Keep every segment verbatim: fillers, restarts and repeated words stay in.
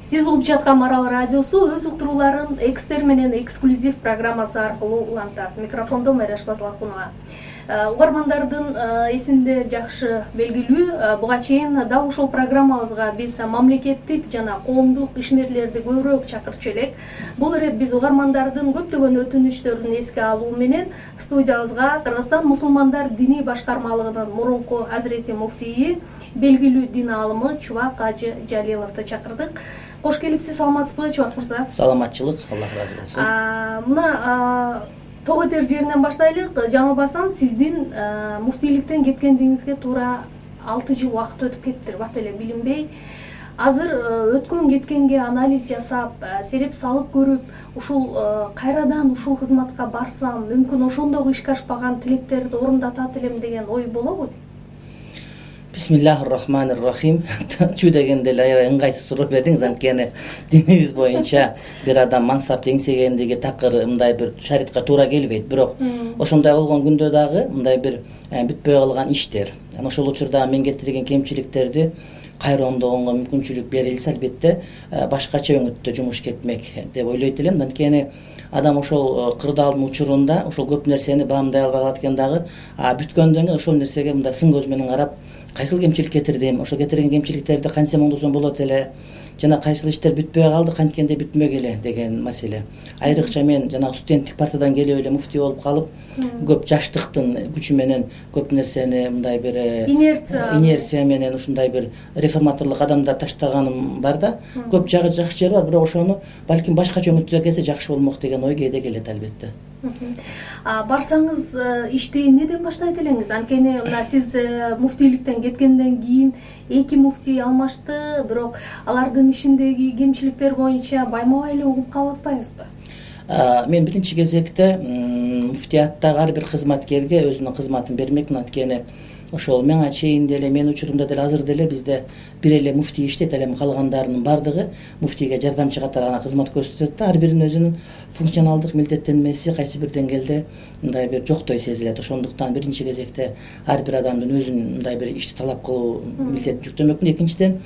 Сиз угуп жаткан Марал радиосу өз уктурууларын экстер менен эксклюзив программасы аркылуу улантат. Микрофондо Майраш Базлакунова. Угармандардын эсинде жакшы белгилүү, буга чейин дал ушул программабызга биз мамлекеттик жана коомдук ишмерлерди көбүрөөк чакырчу элек. Бул ирет биз угармандардын көптөгөн өтүнүчтөрүн эске алуу менен студиябызга Кыргызстан мусулмандар диний башкармалыгынын мурунку азирети муфтийи, белгилүү дин аалымы Чубак Ажы Жалиловду чакырдык. Кош келипсиз, саламатсызбы Чубак мырза? Саламатчылык, Аллах ыраазы болсун. Мына ток этер жеринен баштайлык. Жаңылбасам, сиздин муфтийликтен кеткениңизге туура алты жыл убакыт өтүп кетти, бат эле билинбей. Азыр өткөн кеткенге анализ жасап, сереп салып көрүп, ушул кайрадан ушул кызматка барсам, мүмкүн ошондогу ишке ашпаган тилектерди орундатат элем деген ой болобу? Бисмиллахир-рахманир-рахим. Чу дегенде эле аябай ыңгайсыз суроо бердиңиз, анткени динибиз боюнча бир адам мансап эңсегендиги такыр мындай бир шариатка туура келбейт. Бирок ошондой болгон күндө дагы мындай бир бүтпөй калган иштер, анан ошол учурда мен кетирген кемчиликтерди кайра оңдогонго мүмкүнчүлүк берилсе, албетте башкача өңүттө жумуш кетмек деп ойлойт элем. Анткени адам ошол кырдаалдын учурунда ошол көп нерсени баамдай албай калат экен дагы, а бүткөндөн кийин ошол нерсеге мындай сын көз менен карап, кайсыл кемчилик кетирдим, ошол кетирген кемчиликтерди кантсем оңдосом болот эле, жана кайсыл иштер бүтпөй калды, канткенде бүтмөк эле деген маселе. Айрыкча мен жана студенттик партиядан келип эле муфтий болуп калып, көп жаштыктын күчү менен көп нерсени мындай бир инерция инерция менен ушундай бир реформаторлук адамдар таштаганым бар да. Көп жагы жакшы жери бар, бирок ошону балким башкача өңүттө келсе жакшы болмок деген ой кээде келет албетте. Барсаңыз ишти эмнеден баштайт элеңиз? Анткени мына сиз муфтийликтен кеткенден кийин эки муфтий алмашты, бирок алардын ишиндеги кемчиликтер боюнча байма-бай эле угуп калып атпайбызбы? Мен биринчи кезекте муфтияттагы ар бир кызматкерге өзүнүн кызматын бермекмин. Анткени ошол мага чейин деле, менин учурумда деле азыр деле бизде бир эле муфтий иштейт, ал эми калгандарынын бардыгы муфтийге жардамчы катары гана кызмат көрсөтөт да. Ар биринин өзүнүн функционалдык милдеттенмеси кайсы бир деңгээлде мындай бир жоктой сезилет. Ошондуктан биринчи кезекте ар бир адамдын өзүн мындай бир ишти талап кылуу милдетин жүктөмөкмүн. Экинчиден,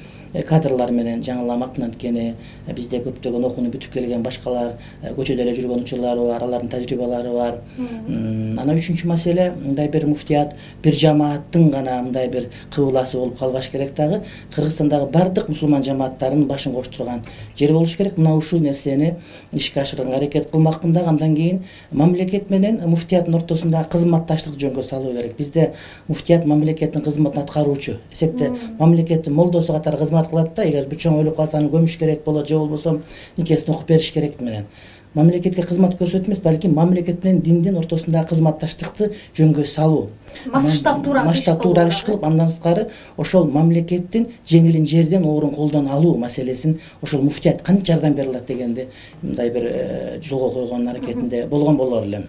кадрлар менен жаңыламакмын. Анткени бизде көптөгөн окууну бүтүп келген башкалар, көчөдө эле жүргөн учурлары бар, алардын тажрыйбалары бар. Анан үчүнчү маселе, мындай бир муфтият бир жамааттын гана мындай бир кыбыласы болуп калбаш керек дагы. Кыргызстандагы бардык мусулман жамааттарынын башын коштурган жер болуш керек. Мына ушул нерсени ишке ашырганга аракет кылмакмын дагы. Андан кийин мамлекет менен муфтияттын ортосунда кызматташтык жөнгө салуу керек. Бизде муфтият мамлекеттин кызматын аткаруучу эсепте мамлекеттин молдосу катары кызмат кылат да. Эгер бир чоң өлүп калса аны көмүш керек болот, же болбосо никесин окуп бериш керек менен. Мамлекетке кызмат көрсөтүп эмес, балким мамлекет менен диндин ортосундагы кызматташтыкты жөнгө салуу. Масштабтуураак масштабтуураак иш кылып, андан сырткары ошол мамлекеттин жеңилин жерден орун колдон алуу маселесин ошол муфтият кантип жардам бере алат дегенди мындай бир жолго койгон аракетинде болгон болор элем.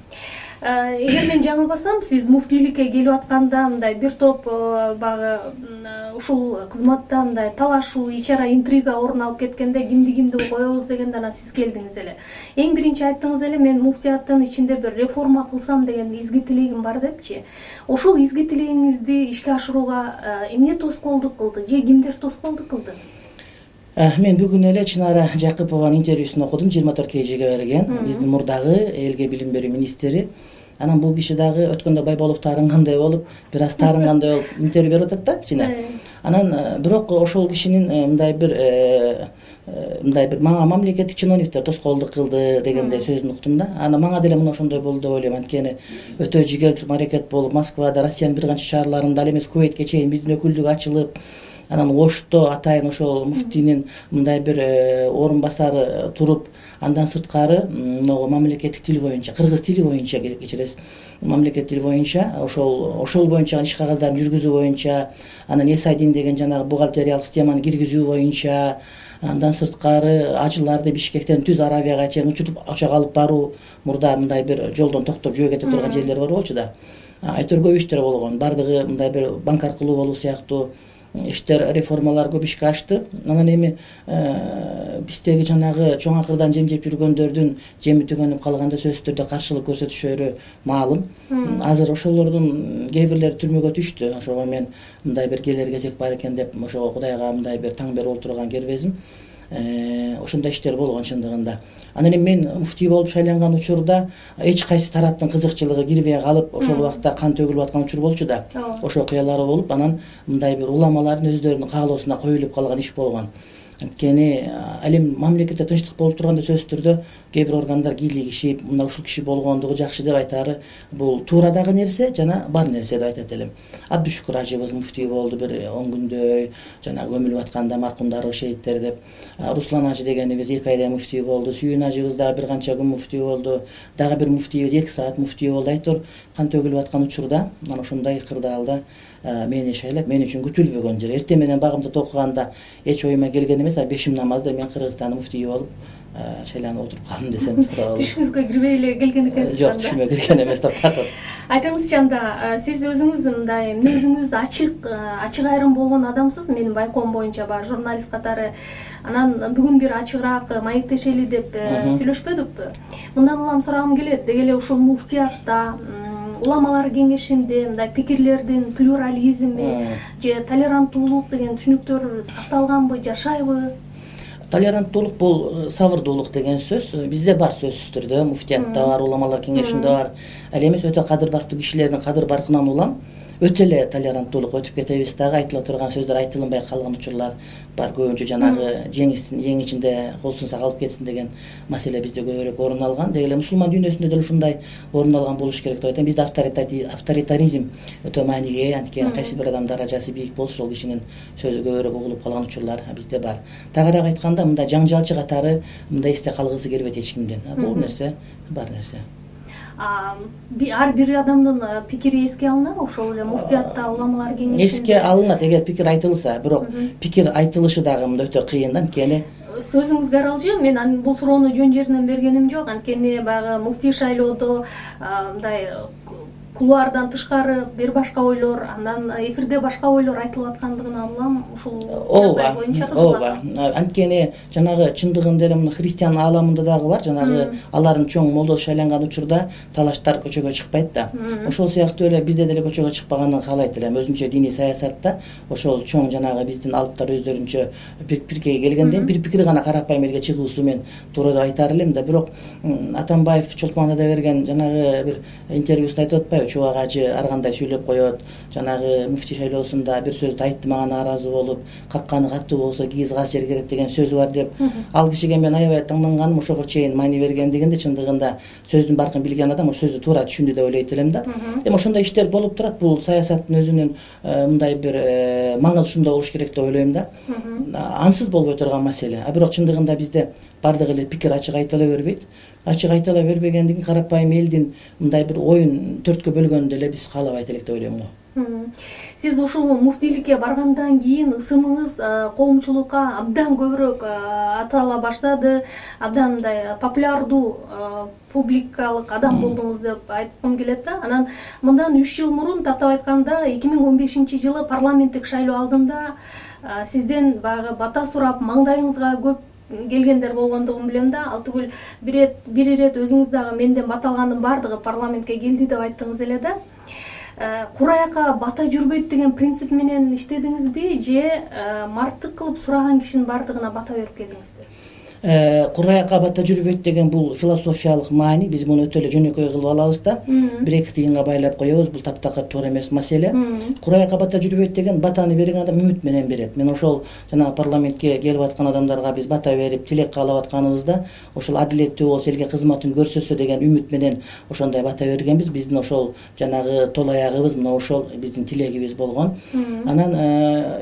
Эгер мен жаңылбасам, сиз муфтийликке келип атканда мындай бир топ багы ушул кызматта мындай талашуу, ичара интрига орун алып кеткенде кимди кимди коебуз дегенде анан сиз келдиңиз эле. Эң биринчи айттыңыз эле, мен муфтияттын ичинде бир реформа кылсам деген изги тилегим бар депчи. Ошол изги тилегиңизди ишке ашырууга эмне тоскоолдук кылды, же кимдер тоскоолдук кылды? Мен бүгүн эле Чынара Жакыпованын интервьюсун окудум, жыйырма төрт кежиге берген. Биздин мурдагы элге билим берүү министри. Анан бул киши дагы өткөндө Байболов таарынгандай болуп, бир аз таарынгандай болуп интервью берип атат да кичине. Анан бирок ошол кишинин мындай бир мындай бир мага мамлекеттик чиновниктер тоскоолдук кылды дегендей сөзүн уктум да. Анан мага деле мына ошондой болду деп ойлойм. Анткени өтө жигердүү аракет болуп, Москвада, Россиянын бир канча шаарларында, ал эмес Кувейтке чейин биздин өкүлдүк ачылып, анан Ошто атайын ошол муфтийнин мындай бир орун басары туруп, андан сырткары могу мамлекеттик тил боюнча, кыргыз тили боюнча кечиресиз, мамлекеттик тил боюнча ошол ошол боюнча иш кагаздарын жүргүзүү боюнча, анан Эсайдин деген жанагы бухгалтериялык системаны киргизүү боюнча, андан сырткары ажыларды Бишкектен Түз Аравияга чейин учутуп учак алып баруу, мурда мындай бир жолдон токтоп жөө кете турган жерлер бар болчу да. Айтор көп иштер болгон. Бардыгы мындай бир банк аркылуу болуу сыяктуу, иштер, реформалар көп ишке ашты. Анан эми биздеги жанагы чоң акырдан жем жеп жүргөндөрдүн жеми түгөнүп калганда сөзсүз түрдө каршылык көрсөтүшөрү маалым. Азыр ошолордун кээ бирлери түрмөгө түштү. Ошого мен мындай бир келер кезек бар экен деп ошого Кудайга мындай бир таң берип отурган кербезим. Ошондой иштер болгон чындыгында. Анан эми мен муфтий болуп шайланган учурда эч кайсы тараптын кызыкчылыгы кирбей калып, ошол убакта кан төгүлүп аткан учур болчу да. Ошо окуялар болуп, анан мындай бир уламалардын өздөрүнүн каалоосуна коюлуп калган иш болгон. Анткени ал эми мамлекетте тынчтык болуп турганда сөзсүз түрдө кээ бир органдар кийлигишип, мына ушул киши болгондугу жакшы деп айтаары бул туура дагы нерсе жана бар нерсе деп айтат элем. Абдушукур ажыбыз муфтий болду бир он күндөй, жана көмүлүп атканда маркумдар шейиттер деп. Руслан ажы дегенибиз эки айдай муфтий болду. Сүйүн ажыбыз дагы бир канча күн муфтий болду. Дагы бир муфтийбиз эки саат муфтий болду. Айтор кан төгүлүп аткан учурда мына ошондой кырдаалда мени шайлап, мен үчүн күтүлбөгөн жер. Эртең менен багымды токуганда эч оюма келген эмес, а бешим намазда мен Кыргызстандын муфтийи болуп шайланып отуруп калдым десем туура болот. Түшүңүзгө кирбей эле келген экенсиз. Жок, түшүмө кирген эмес таптакыр. Айтыңызчы, анда сиз өзүңүз мындай мүнөзүңүз ачык, ачык айрым болгон адамсыз. Менин байкоом боюнча баягы журналист катары. Анан бүгүн бир ачыгыраак маектешели деп сүйлөшпөдүкпү? Мындан улам сурагым келет. Деги эле ушул муфтиятта, уламалар кеңешинде мындай пикирлердин плюрализми же толеранттуулук деген түшүнүктөр сакталганбы, жашайбы? Толеранттуулук бул сабырдуулук деген сөз бизде бар сөзсүз түрдө, муфтиятта бар, уламалар кеңешинде бар. Ал эмес өтө кадыр барктуу кишилердин кадыр баркынан улам өтө эле толеранттуулук өтүп кетебиз дагы, айтыла турган сөздөр айтылынбай калган учурлар бар. Көбүнчө жанагы жеңистин эң ичинде колсунса калып кетсин деген маселе бизде көбүрөөк орун алган. Деги эле мусулман дүйнөсүндө деле ушундай орун алган болуш керек деп айтам. Бизде авторитаризм өтө мааниге, анткени кайсы бир адам даражасы бийик болсо ошол кишинин сөзү көбүрөөк угулуп калган учурлар бизде бар. Тагыраак айтканда, мындай жаңжалчы катары мындай эсте калгысы келбейт эч кимден. Бул нерсе бар нерсе. Ар бир адамдын пикири эске алынабы ошол эле муфтиятта, уламалар кеңешинде? Эске алынат эгер пикир айтылса, бирок пикир айтылышы дагы мында өтө кыйын, анткени сөзүңүзгө аралжы, мен бул суроону жөн жеринен бергеним жок. Анткени баягы муфтий шайлоодо мындай кулуардан тышкары бир башка ойлор, андан эфирде башка ойлор айтылып аткандыгына улам ушул жагдай боюнча кызыгат. Ооба, анткени жанагы чындыгында эле мына христиан ааламында дагы бар, жанагы алардын чоң молдо шайланган учурда талаштар көчөгө чыкпайт да. Ошол сыяктуу эле бизде деле көчөгө чыкпаганын каалайт элем. Өзүнчө диний саясатта ошол чоң жанагы биздин алыптар өздөрүнчө пикирге келгенде бир пикир гана карапайым элге чыгуусу мен туура деп айтар элем да. Бирок Атамбаев Чолпонада берген жанагы бир интервьюсунда айтып атпайбы, Чубак ажы ар кандай сүйлөп коет, жанагы муфтий шайлоосунда бир сөздү айтты, мага нааразы болуп, какканы катуу болсо кийиз каз жер керет деген сөзү бар деп. Ал кишиге мен аябай таңданганым ошого чейин маани бергендигинде, чындыгында сөздүн баркын билген адам ошол сөздү туура түшүндү деп ойлойт элем да. Эми ошондой иштер болуп турат. Бул саясаттын өзүнүн мындай бир маңызы ушундай болуш керек деп ойлойм да. Ансыз болбой турган маселе. А бирок чындыгында бизде бардыгы эле пикир ачык айтыла бербейт. Ачык айтыла бербегендигин карапайым элдин мындай бир оюн төрткө бөлгөндү эле биз каалабайт элек деп ойлойм го. Сиз ушул муфтийликке баргандан кийин ысымыңыз коомчулукка абдан көбүрөөк атала баштады, абдан мындай популярдуу публикалык адам болдуңуз деп айткым келет да. Анан мындан үч жыл мурун, тактап айтканда эки миң он бешинчи жылы парламенттик шайлоо алдында сизден баягы бата сурап, маңдайыңызга көп келгендер болгондугун билем да. Ал түгүл бир бир ирет өзүңүз дагы менден бата алгандын бардыгы парламентке келди деп айттыңыз эле да. Кураяка бата жүрбөйт деген принцип менен иштедиңизби же марттык кылып сураган кишинин бардыгына бата берип келдиңизби? Кураяка бата жүрбөйт деген бул философиялык маани. Биз муну өтө эле жөнөкөй кылып алабыз да. Бир эки тыйынга байлап коебуз. Бул таптакыр туура эмес маселе. Кураяка бата жүрбөйт деген батаны берген адам үмүт менен берет. Мен ошол жана парламентке келип аткан адамдарга биз бата берип, тилек каалап атканыбызда ошол адилеттүү болсо, элге кызматын көрсөтсө деген үмүт менен ошондой бата бергенбиз. Биздин ошол жанагы тол аягыбыз мына ошол биздин тилегибиз болгон. Анан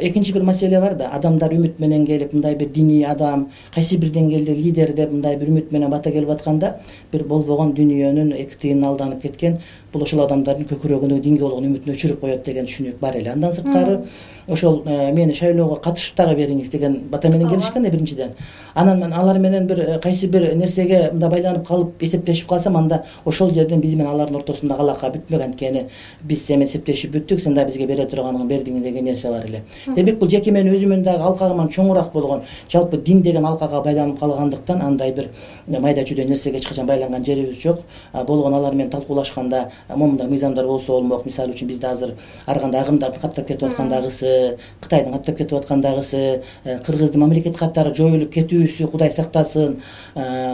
экинчи бир маселе бар да. Адамдар үмүт менен келип, мындай бир диний адам, кайсы бирден деңгээлде лидер деп мындай бир үмүт менен бата келип атканда бир болбогон дүнүйөнүн эки тыйынына алданып кеткен бул ошол адамдардын көкүрөгүндөгү динге болгон үмүтүн өчүрүп коет деген түшүнүк бар эле. Андан сырткары ошол мени шайлоого катышып дагы бериңиз деген бата менен келишкен да биринчиден. Анан мен алар менен бир кайсы бир нерсеге мындай байланып калып эсептешип калсам, анда ошол жерден биз менен алардын ортосунда алака бүтмөк. Анткени биз сен менен эсептешип бүттүк, сен да бизге бере турганың бердиң деген нерсе бар эле. Демек бул жеке менин өзүмүн дагы алкагыман чоңураак болгон жалпы дин деген алкага байланып калгандыктан андай бир майда чүйдө нерсеге эч качан байланган жерибиз жок. Болгон алар менен талкуулашканда момундай мыйзамдар болсо болмок. Мисалы үчүн бизде азыр ар кандай агымдарды каптап кетип аткандагысы, Кытайдын каптап кетип аткандагысы, Кыргыздын мамлекет каттары жоюлуп кетүүсү Кудай сактасын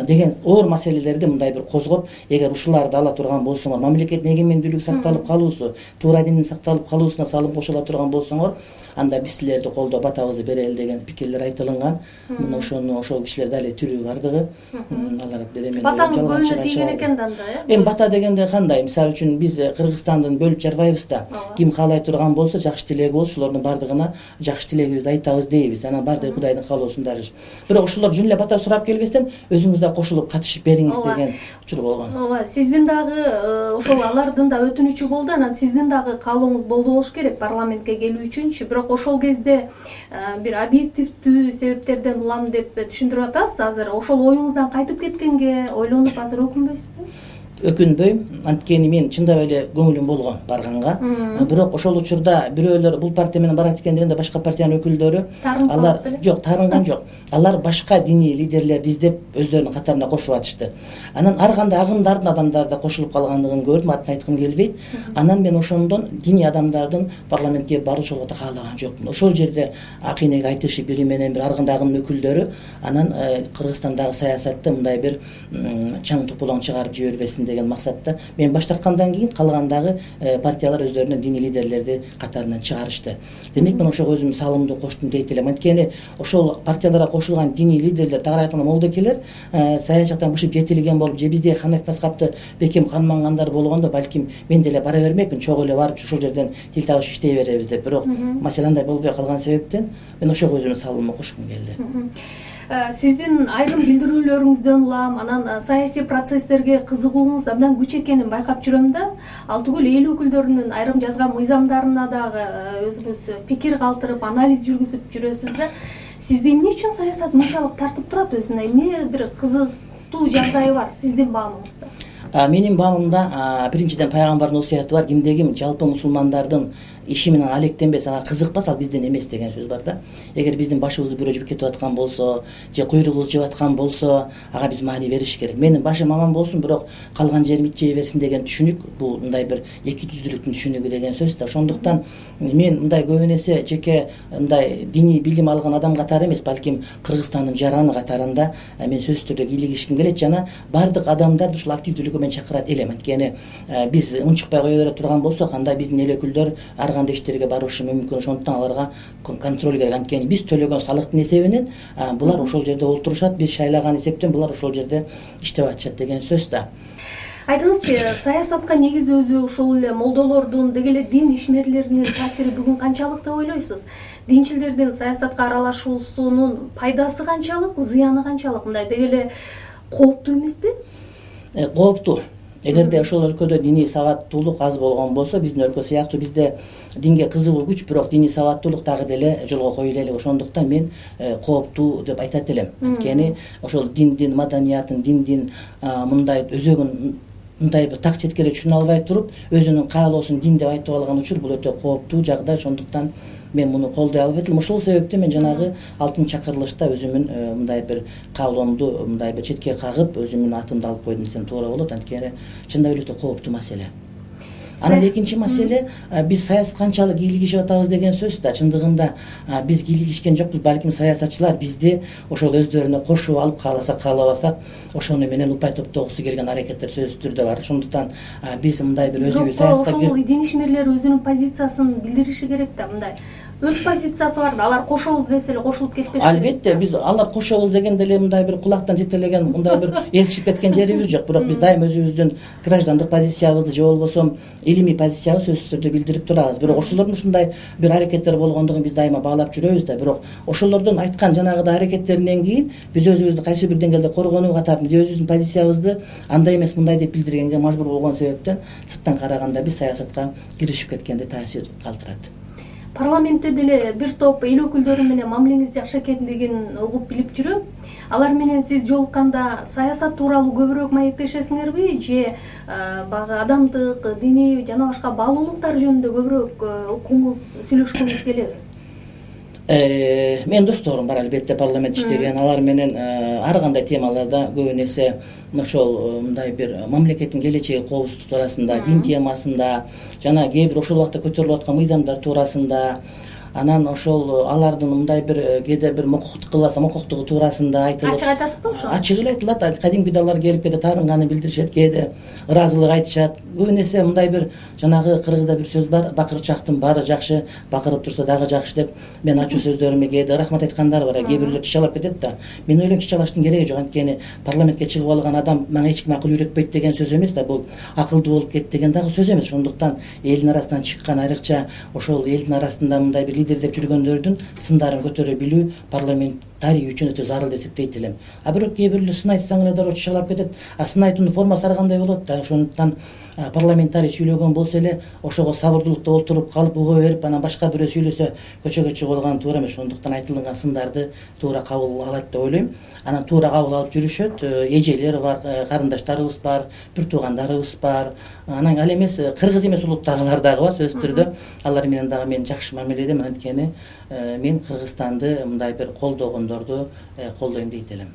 деген оор маселелерди мындай бир козгоп, эгер ушуларды ала турган болсоңор, мамлекеттин эгемендүүлүгү сакталып калуусу, туура диндин сакталып калуусуна салым кошула турган болсоңор, анда биз силерди колдоп батабызды берели деген пикирлер айтылган. Мына ошону ошол кишилер дали тирүү бардыгы. Алар деле мен батаңыз көңүлүнө тийген экен да анда, э? Эми бата дегенде кандай? Мисалы үчүн биз Кыргызстандын бөлүп жарбайбыз да. Ким каалай турган болсо жакшы тилеги болсо, ошолордун бардыгына жакшы тилегибизди айтабыз дейбиз. Анан бардыгы Кудайдын каалоосунда эле. Бирок ошолор жөн эле бата сурап келбестен өзүңүз да кошулуп катышып бериңиз деген учур болгон. Ооба, сиздин дагы ошол алардын да өтүнүчү болду. Анан сиздин дагы каалооңуз болду болуш керек парламентке келүү үчүнчү. Бирок ошол кезде бир объективдүү себептерден улам деп түшүндүрүп атасыз. Азыр ошол оюңуздан кайтып кеткенге ойлонуп азыр өкүнбөйсүзбү? Өкүнбөйм, анткени мен чындап эле көңүлүм болгон барганга. Бирок ошол учурда бирөөлөр бул партия менен барат экен дегенде башка партиянын өкүлдөрү алар жок, таарынган жок. Алар башка диний лидерлерди издеп өздөрүнүн катарына кошуп атышты. Анан ар кандай агымдардын адамдары да кошулуп калгандыгын көрдүм, атын айткым келбейт. Анан мен ошондон диний адамдардын парламентке баруучулугу да каалаган жокмун. Ошол жерде акыйнеге айтышы бiri менен бир ар кандай агымдын өкүлдөрү анан Кыргызстандагы саясатты мындай бир чаң топулоң чыгарып жибербесин деген максатта мен баштаткандан кийин калгандагы партиялар өздөрүнүн диний лидерлерди катарынан чыгарышты. Демек мен ошого өзүм салымды коштум дейт элем. Анткени ошол партияларга кошулган диний лидерлер, тагыраак айтканда молдокелер саясаттан бушуп жетилген болуп, же биздей Ханеф Маскапты бекем канмагандар болгондо балким мен деле бара бермекмин, чогуу эле барып ошол жерден тил табышып иштей беребиз деп. Бирок маселе андай болбой калган себептен мен ошого өзүмдүн салымымды кошкум келди. Сиздин айрым билдирүүлөрүңүздөн улам анан саясий процесстерге кызыгууңуз абдан күч экенин байкап жүрөм да. Ал түгүл эл өкүлдөрүнүн айрым жазган мыйзамдарына дагы өзүңүз пикир калтырып, анализ жүргүзүп жүрөсүз да. Сизди эмне үчүн саясат мынчалык тартып турат өзүнө? Эмне бир кызыктуу жагдайы бар сиздин баамыңызда? Менин баамымда биринчиден пайгамбардын осуяты бар. Кимде ким жалпы мусулмандардын иши менен алектенбес, ага кызыкпас, ал бизден эмес деген сөз бар да. Эгер биздин башыбызды бирөө жеп кетип аткан болсо, же куйругубузду жеп аткан болсо, ага биз маани бериш керек. Менин башым аман болсун, бирок калган жерим ит жей берсин деген түшүнүк бул мындай бир эки жүздүүлүктүн түшүнүгү деген сөз да. Ошондуктан мен мындай көбүн эсе жеке мындай диний билим алган адам катары эмес, балким Кыргызстандын жараны катарында мен сөзсүз түрдө кийлигишким келет жана бардык адамдарды ушул активдүүлүккө мен чакырат элем. Анткени биз унчукпай кое бере турган болсок, анда биздин эл өкүлдөр ар кандай иштерге барышы мүмкүн. Ошондуктан аларга контроль керек. Анткени биз төлөгөн салыктын эсебинен булар ошол жерде олтурушат, биз шайлаган эсептен булар ошол жерде иштеп атышат деген сөз да. Айтыңызчы, саясатка негизи өзү ушул эле молдолордун, деги эле дин ишмерлеринин таасири бүгүн канчалык деп ойлойсуз? Динчилдердин саясатка аралашуусунун пайдасы канчалык, зыяны канчалык? Мындай деги эле кооптуу эмеспи? Кооптуу. Эгерде ошол өлкөдө диний сабаттуулук аз болгон болсо, биздин өлкө сыяктуу бизде динге кызыгуу күч, бирок диний сабаттуулук дагы деле жолго коюла элек. Ошондуктан мен кооптуу деп айтат элем. Анткени ошол диндин маданиятын, диндин мындай өзөгүн мындай бир так четке эле түшүнө албай туруп, өзүнүн каалоосун дин деп айтып алган учур бул өтө кооптуу жагдай. Ошондуктан мен муну колдой албайт элем. Ошол себептен мен жанагы алтын чакырылышта өзүмүн мындай бир каалоомду мындай бир четке кагып, өзүмдүн атымды алып койдум десем туура болот. Анткени чындап эле өтө кооптуу маселе. Анан экинчи маселе, биз саясат канчалык кийлигишип атабыз деген сөз да. Чындыгында биз кийлигишкен жокпуз, балким саясатчылар бизди ошол өздөрүнө кошуп алып, кааласак каалабасак ошону менен упай топтогусу келген аракеттер сөзсүз түрдө бар. Ошондуктан биз мындай бир өзүбүз саясатка ошол дин ишмерлери өзүнүн позициясын билдириши керек да. Мындай өз позициясы бар да, алар кошобуз десе эле кошулуп кетпеш. Албетте, биз алар кошобуз дегенде эле мындай бир кулактан жетелеген, мындай бир элчип кеткен жерибиз жок. Бирок биз дайым өзүбүздүн граждандык позициябызды же болбосо илимий позициябызды сөзсүз түрдө билдирип турабыз. Бирок ошолордун ушундай бир аракеттер болгондугун биз дайыма баалап жүрөбүз да. Бирок ошолордун айткан жанагыдай аракеттеринен кийин биз өзүбүздү кайсы бир деңгээлде коргонуу катарында же өзүбүздүн позициябызды андай эмес мындай деп билдиргенге мажбур болгон себептен сырттан караганда биз саясатка киришип кеткенде таасир калтырат. Парламентте деле бир топ эл өкүлдөрү менен мамилеңиз жакшы экендигин угуп билип жүрөм. Алар менен сиз жолукканда саясат тууралуу көбүрөөк маектешесиңерби же баягы адамдык, диний жана башка баалуулуктар жөнүндө көбүрөөк укуңуз, сүйлөшкүңүз келеби? Мен досторум бар албетте парламент иштеген, алар менен ар кандай темаларда көбүн эсе ошол мындай бир мамлекеттин келечеги, коопсуздук туурасында, дин темасында жана кээ бир ошол убакта көтөрүлүп аткан мыйзамдар туурасында, анан ошол алардын мындай бир кээде бир мокуктук кылбаса мокуктугу туурасында айтылып. Ачык айтасызбы ошо? Ачык эле айтылат. Кадимки алар келип кээде таарынганы билдиришет, кээде ыраазылык айтышат. Көбүн эсе мындай бир жанагы кыргызда бир сөз бар, бакырчактын баары жакшы, бакырып турса дагы жакшы деп. Мен ачуу сөздөрүмө кээде рахмат айткандар бар. Кээ бирлер чычалап кетет да. Мен ойлойм чычалаштын кереги жок. Анткени парламентке чыгып алган адам мага эч ким акыл үйрөтпөйт деген сөз эмес да. Бул акылдуу болуп кет деген дагы сөз эмес. Ошондуктан элдин арасынан чыккан, айрыкча ошол элдин арасында мындай бир лидер деп жүргөндөрдүн сындарын көтөрө билүү парламентарий үчүн өтө зарыл деп эсептейт элем. А бирок кээ бирлер сын айтсаң эле дароо чычалап кетет. А сын айтуунун формасы ар кандай болот да. Ошондуктан парламентарий сүйлөгөн болсо эле ошого сабырдуулукта отуруп калып уга берип, анан башка бирөө сүйлөсө көчөгө чыгып алган туура эмес. Ошондуктан айтылган сындарды туура кабыл алат деп ойлойм. Анан туура кабыл алып жүрүшөт. Эжелер бар, карындаштарыбыз бар, бир туугандарыбыз бар. Анан ал эмес кыргыз эмес улуттагылар дагы бар сөзсүз түрдө. Алар менен дагы мен жакшы мамиледем, анткени мен Кыргызстанды мындай бир колдогондорду колдойм дейт элем.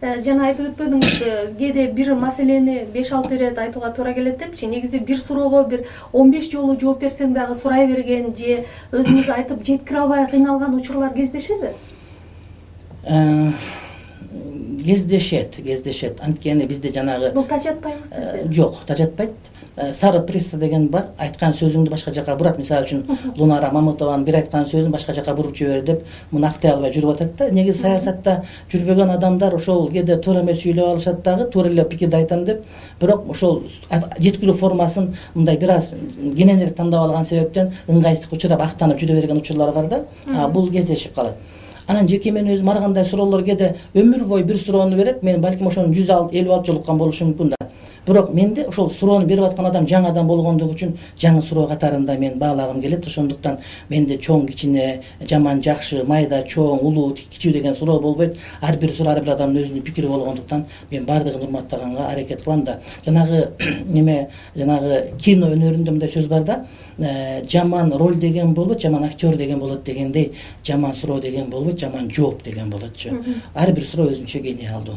Жана айтып өтпөдүңүз, кээде бир маселени беш алты ирет айтууга туура келет депчи. Негизи бир суроого бир он беш жолу жооп берсең дагы сурай берген же өзүңүз айтып жеткире албай кыйналган учурлар кездешеби? Кездешет, кездешет. Анткени бизде жанагы бул тажатпайбы сизде? Жок, тажатпайт. Сары пресса деген бар. Айткан сөзүңдү башка жака бурат. Мисалы үчүн Лунара Мамытованын бир айткан сөзүн башка жака буруп жибер деп муну актай албай жүрүп атат да. Негизи саясатта жүрбөгөн адамдар ошол кээде туура эмес сүйлөп алышат дагы, туура эле пикирди айтам деп. Бирок ошол жеткирүү формасын мындай бир аз кененирээк тандап алган себептен ыңгайсыздыкка учурап актанып жүрө берген учурлар бар да. Бул кездешип калат. Анан жеке мен өзүм ар кандай суроолор кээде өмүр бою бир суроону берет. Мен балким ошону жүз элүү алты жолу уккан болушум мүмкүн да. Бирок менде ошол суроону берип аткан адам жаңы адам болгондугу үчүн жаңы суроо катарында мен баалагым келет. Ошондуктан менде чоң кичине, жаман жакшы, майда чоң, улуу кичүү деген суроо болбойт. Ар бир суроо ар бир адамдын өзүнүн пикири болгондуктан мен баардыгын урматтаганга аракет кылам да. Жанагы неме, жанагы кино өнөрүндө мындай сөз бар да. Жаман роль деген болот, жаман актер деген болот дегендей, жаман суроо деген болбойт, жаман жооп деген болотчу. Ар бир суроо өзүнчө гениалдуу.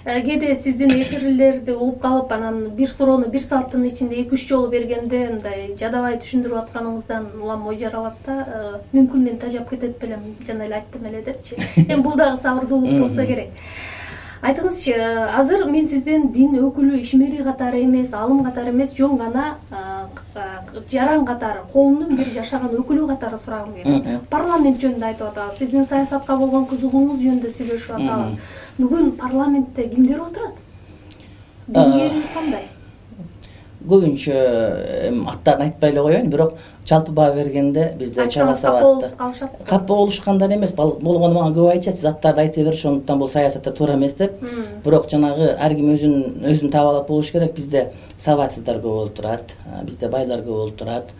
Кээде сиздин эфирлерди угуп калып, анан бир суроону бир сааттын ичинде эки үч жолу бергенде мындай жадабай түшүндүрүп атканыңыздан улам ой жаралат да. Мүмкүн мен тажап кетет белем, жана эле айттым эле депчи. Эми бул дагы сабырдуулук болсо керек. Айтыңызчы, азыр мен сизден дин өкүлү, ишмери катары эмес, алым катары эмес, жөн гана жаран катары, коомдун бир жашаган өкүлү катары сурагым келет. Парламент жөнүндө айтып атабыз, сиздин саясатка болгон кызыгууңуз жөнүндө сүйлөшүп атабыз. Бүгүн парламентте кимдер отурат? Диниңерибиз кандай? Көбүнчө аттарын айтпай эле коеюн, бирок жалпы баа бергенде бизде чала сабатты. Капа болушкандар эмес, болгону мага көп айтышат, сиз аттарды айта берип, ошондуктан бул саясатта туура эмес деп. Бирок жанагы ар ким өзүн өзүн таап алып болуш керек. Бизде сабатсыздар көп болуп турат, бизде байлар көп болуп турат.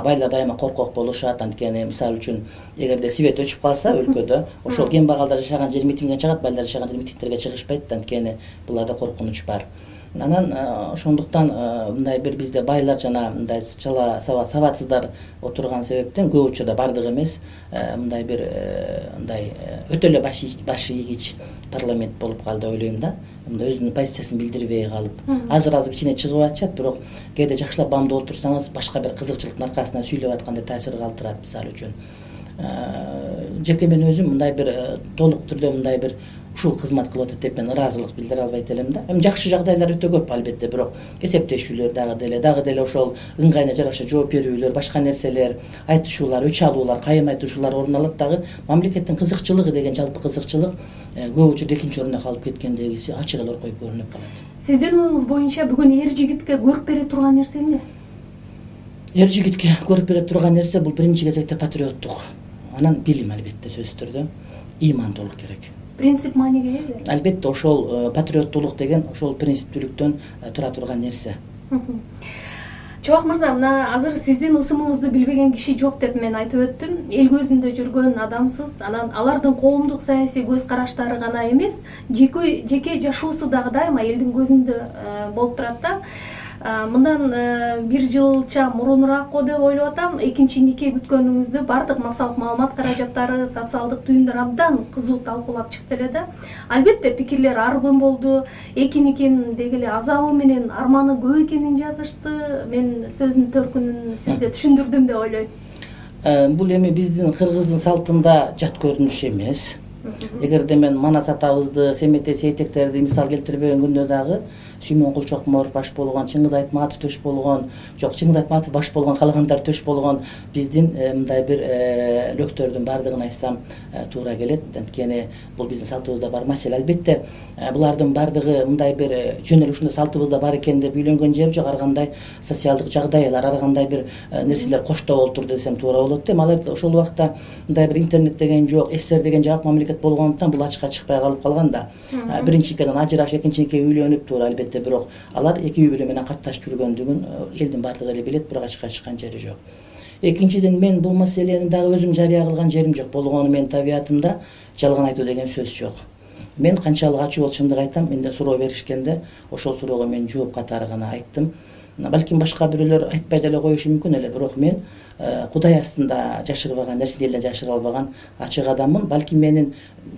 Байлар дайыма коркок болушат, анткени мисалы үчүн эгерде свет өчүп калса өлкөдө, ошол кембагалдар жашаган жер митингден чыгат, байлар жашаган жер митингтерге чыгышпайт, анткени буларда коркунуч бар. Анан ошондуктан мындай бир бизде байлар жана мындай чала сабатсыздар отурган себептен көп учурда бардыгы эмес, мындай бир мындай өтө эле баш ийгич парламент болуп калды деп ойлойм да. Мындай өзүнүн позициясын билдирбей калып, азыр-азыр кичине чыгып атышат, бирок кээде жакшылап бамдуу отурсаңыз башка бир кызыкчылыктын аркасынан сүйлөп аткандай таасир калтырат. Мисалы үчүн жеке мен өзүм мындай бир толук түрдө мындай бир ушул кызмат кылып атат деп мен ыраазылык билдире албайт элем да. Эми жакшы жагдайлар өтө көп албетте, бирок эсептешүүлөр дагы деле дагы деле ошол ыңгайына жараша жооп берүүлөр, башка нерселер, айтышуулар, өч алуулар, кайым айтышуулар орун алат. Дагы мамлекеттин кызыкчылыгы деген жалпы кызыкчылык көп учурда экинчи орунда калып кеткендеги ачык эле оркоюп көрүнүп калат. Сиздин оюңуз боюнча бүгүн эр жигитке көрүп бере турган нерсе эмне? Эр жигитке көрүп бере турган нерсе бул биринчи кезекте патриоттук, анан билим албетте сөзсүз түрдө, ыймандуулук керек. Принцип мааниге ээ? Албетте ошол патриоттуулук деген ошол принциптүүлүктөн тура турган нерсе. Чубак мырза, мына азыр сиздин ысымыңызды билбеген киши жок деп мен айтып өттүм. Эл көзүндө жүргөн адамсыз, анан алардын коомдук саясий көз караштары гана эмес, жеке жеке жашоосу дагы дайыма элдин көзүндө болуп турат да. Мындан бир жылча мурунураак го деп ойлоп атам, экинчи нике күткөнүңүздү бардык массалык маалымат каражаттары, социалдык түйүндөр абдан кызуу талкуулап чыкты эле да. Албетте пикирлер арбын болду, эки никенин деги эле азабы менен арманы көп экенин жазышты. Мен сөздүн төркүнүн сизге түшүндүрдүм деп ойлойм. Бул эми биздин кыргыздын салтында жат көрүнүш эмес. Эгерде мен Манас атабызды, Семете Сейтектерди мисал келтирбеген күндө дагы Сүймөнкул Чокморов баш болгон, Чыңгыз Айтматов төш болгон, жок Чыңгыз Айтматов баш болгон, калгандар төш болгон биздин мындай бир лөктөрдүн бардыгын айтсам туура келет. Анткени бул биздин салтыбызда бар маселе. Албетте булардын бардыгы мындай бир жөн эле ушундай салтыбызда бар экен деп үйлөнгөн жери жок. Ар кандай социалдык жагдайлар, ар кандай бир нерселер коштоо болуп турду десем туура болот да. Алар ошол убакта мындай бир интернет деген жок, СССР деген жак мамлекет болгондуктан бул ачыкка чыкпай калып калган да. Биринчи никеден ажырашып, экинчи никеге үйлөнүп туура албетте, бирок алар эки үй бүлө менен катташып жүргөндүгүн элдин бардыгы эле билет, бирок ачыкка чыккан жери жок. Экинчиден, мен бул маселени дагы өзүм жарыя кылган жерим жок. Болгону менин табиятымда жалган айтуу деген сөз жок. Мен канчалык ачуу болуп чындык айтам, менде суроо беришкенде ошол суроого мен жооп катары гана айттым. Балким башка бирөөлөр айтпай деле коюшу мүмкүн эле, бирок мен Кудай астында жашырбаган, нерсени элден жашыра албаган ачык адаммын. Балким менин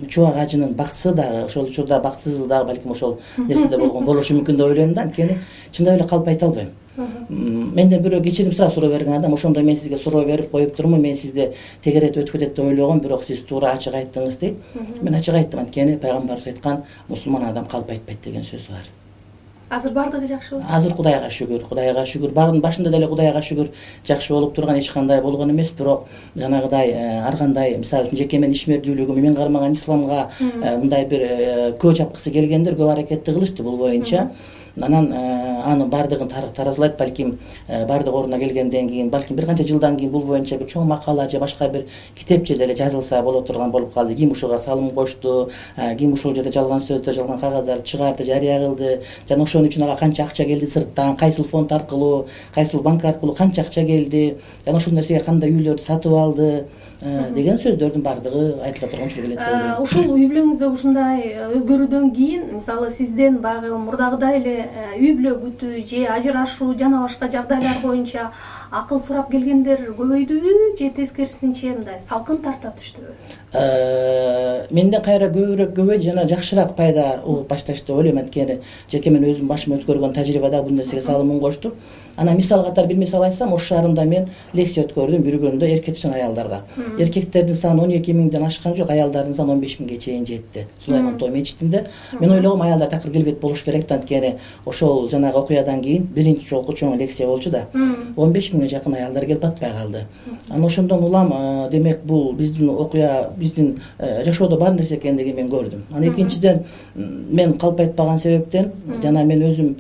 чубак ажынын бактысы дагы, ошол учурда бактысыздыгы дагы балким ошол нерседе болгон болушу мүмкүн деп ойлойм да. Анткени чындап эле калп айта албайм. Менден бирөө кечирим сурап суроо берген адам, ошондо мен сизге суроо берип коюп турмун, мен сизди тегеретип өтүп кетет деп ойлогом, бирок сиз туура ачык айттыңыз дейт. Мен ачык айттым, анткени пайгамбарыбыз айткан мусулман адам калп айтпайт деген сөз бар. Азыр бардыгы жакшы болуп? Азыр Кудайга шүгүр, Кудайга шүгүр. Бардын башында деле Кудайга шүгүр жакшы болуп турган, эч кандай болгон эмес, бирок жанагыдай ар кандай, мисалы үчүн жеке менин ишмердүүлүгү, мен кармаган исламга мындай бир көө чапкысы келгендер көп аракетти кылышты бул боюнча. Анан анын бардыгын таразылайт, балким бардык ордуна келгенден кийин, балким бир канча жылдан кийин бул боюнча бир чоң макала же башка бир китепче деле жазылса боло турган болуп калды. Ким ушуга салым кошту, ким ушул жерде жалган сөздү, жалган кагаздарды чыгарды, жарыя кылды, жана ошон үчүн ага канча акча келди сырттан, кайсыл фонд аркылуу, кайсыл банк аркылуу канча акча келди, жана ошол нерсеге кандай үйлөрдү сатып алды деген сөздөрдүн бардыгы айтыла турган учур келет деп ойлойм. Ушул үй бүлөңүздө ушундай өзгөрүүдөн кийин, мисалы сизден баягы мурдагыдай эле үй бүлө бүтүү же ажырашуу жана башка жагдайлар боюнча акыл сурап келгендер көбөйдүбү же тескерисинче мындай салкын тарта түштүбү? Менден кайра көбүрөөк көбөйдү жана жакшыраак пайда угуп башташты деп ойлойм. Анткени жеке мен өзүм башыма өткөргөн тажрыйбада бул нерсеге салымын коштум. Анан мисал катары бир мисал айтсам, Ош шаарында мен лекция өткөрдүм бир күндө эркек жана аялдарга. Эркектердин саны он эки миңден ашкан жок, аялдардын саны он беш миңге чейин жетти. Сулайман Тоо мечитинде. Мен ойлогом, аялдар такыр келбейт болуш керек да, анткени ошол жанагы окуядан кийин биринчи жолку чоң лекция болчу да. он беш миңге жакын аялдар келип атпай калды. Анан ошондон улам, демек бул биздин окуя, биздин жашоодо бар нерсе экендигин мен көрдүм. Анан экинчиден, мен калп айтпаган себептен жана мен өзүм